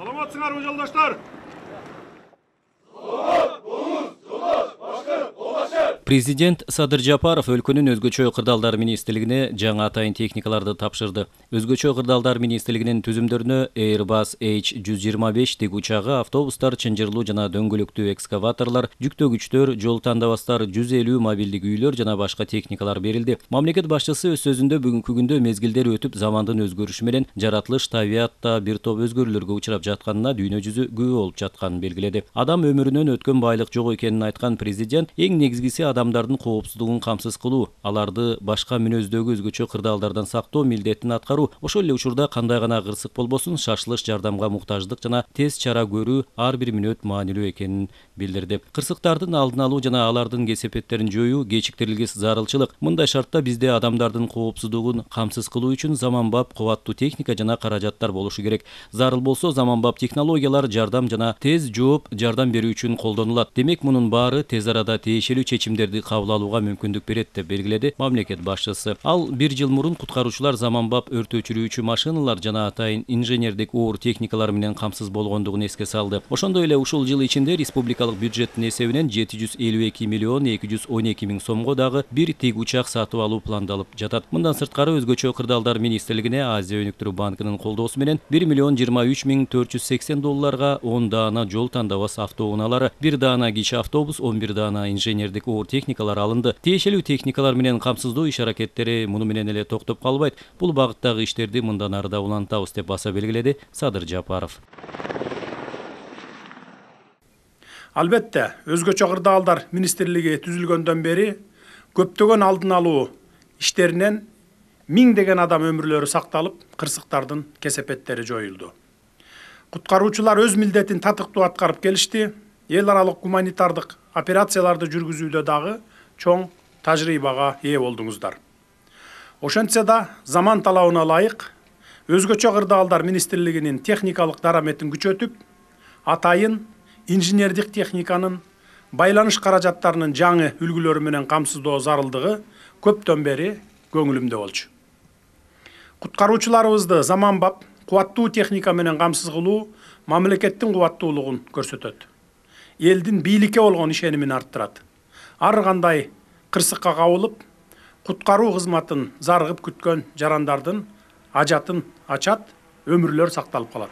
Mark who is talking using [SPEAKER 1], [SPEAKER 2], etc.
[SPEAKER 1] Саламатсыңарбы жолдоштор?
[SPEAKER 2] Президент Садыр Жапаров өлкөнүн өзгөчө кырдаалдар министрлигине жаңы атайын техникаларды тапшырды. Өзгөчө кырдаалдар министрлигинин түзүмдөрүнө Airbus H125 тик учагы, автобустар, чынжырлуу жана дөңгөлөктүү экскаваторлор, жүктөгүчтөр, жол тандабастар, 150 мобилдик үйлөр жана башка техникалар берилди. Мамлекет башчысы өз сөзүндө бүгүнкү күндө мезгилдер өтүп, замандын өзгөрүшү менен жаратылыш табиятта бир топ өзгөрүүлөргө учурап жатканына дүйнө жүзү күбө болуп жатканын белгиледи. Адам өмүрүнөн өткөн байлык жок экенин айткан президент, эң негизгиси адамдардын коопсуздугун камсыз кылуу, аларды башка мүнөздөгү өзгөчө кырдаалдардан сактоо милдетин аткаруу, ошол эле учурда кандай гана кырсык болбосун шашылыш жардамга муктаждык жана тез чара көрүү ар бир мүнөт маанилүү экенин билдирди. Кырсыктардын алдын алуу жана алардын кесепеттерин жоюу кечиктирилгис зарылчылык. Мындай шартта бизде адамдардын коопсуздугун камсыз кылуу үчүн заманбап кубаттуу техника жана каражаттар болушу керек. Зарыл болсо заманбап технологиялар жардам жана тез жооп жардам берүү үчүн колдонулат. Демек, мунун баары тез арада тиешелүү чечимдерди кабыл алууга мүмкүндүк берет деп белгиледи мамлекет башчысы. Ал 1 жыл мурун куткаруучулар заманбап өрт өчүрүүчү машиналар жана атайын инженердик оор техникалар менен камсыз болгондугун эске салды. Ошондой эле ушул жыл ичинде республикалык бюджеттин эсебинен 752 миллион 212 миң сомго дагы бир тик учак сатып алуу пландалып жатат. Мындан сырткары өзгөчө кырдаалдар министрлигине Азия өнүктүрүү банкынын колдоосу менен 1 миллион 23 миң 480 долларга 10 даана жол тандабас автоунаалары, 1 даана кичи автобус, 11 даана инженердик оор техникалар алынды. Тиешелүү техникалар менен камсыздоо иш-аракеттери муну менен эле токтоп калбайт. Бул багыттагы иштерди мындан ары да улантабыз деп баса белгиледи Садыр Жапаров.
[SPEAKER 1] Албетте, өзгөчө кырдаалдар министрлиги түзүлгөндөн бери көптөгөн алдын алуу иштеринен миңдеген адам өмүрлөрү сакталып, кырсыктардын кесепеттери жоюлду. Куткаруучулар өз милдетин татыктуу аткарып келишти. Эл аралык гуманитардык операцияларды жүргүзүүдө дагы чоң тажрыйбага ээ болдуңуздар. Ошентсе да, заман талабына ылайык өзгөчө кырдаалдар министрлигинин техникалык дараметин күчөтүп, атайын инженердик техниканын байланыш каражаттарынын жаңы үлгүлөрү менен камсыздоо зарылдыгы көптөн бери көңүлүмдө болчу. Куткаруучуларыбызды заманбап кубаттуу техника менен камсыз кылуу мамлекеттин кубаттуулугун көрсөтөт. Элдин бийликке болгон ишенимин арттырат. Ар кандай кырсыкка кабылып, куткаруу кызматын зарыгып күткөн жарандардын ажатын ачат, өмүрлөр сакталып калат.